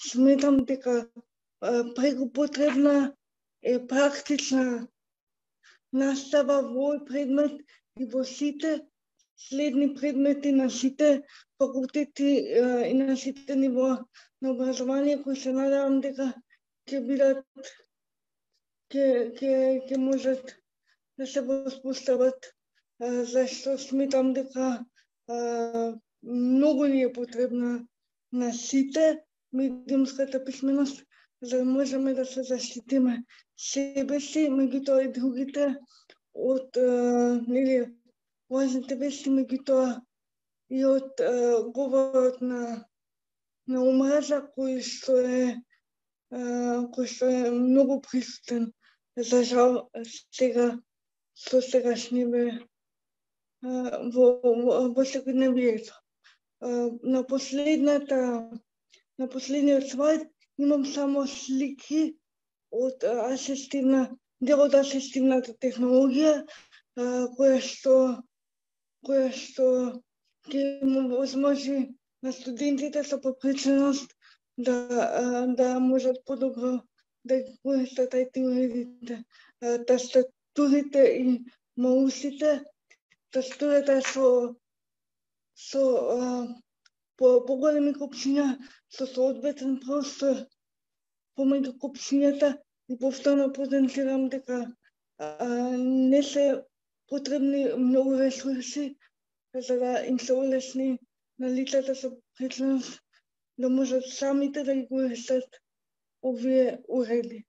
сметам дека преку потребна е практична настава во овој предмет и во сите следни предмети на сите факултети и на сите нивоа на образование, кои се надевам дека ќе бидат ќе можат да се воспостават, зашто сметам дека многу ни е потребна на сите медиумската писменост, за да можеме да се заштитиме себе си, меѓутоа и другите од лажните вести, меѓутоа и од говорот на омраза кој што е многу присутен, за жал сега со сегашниве во секојдневието. На последниот слайд имам само слики од дел од асистивната технологија, која што ќе му возможи на студентите со попреченост да можат подобро да ги користат IT уредите, тастатурите и маусите, тастатурата со поголеми копчиња, со соодветен простор помеѓу копчињата, и повторно потенцирам дека не се потребни многу ресурси за да им се олесни на лицата со попреченост да можат самите да ги користат овие уреди.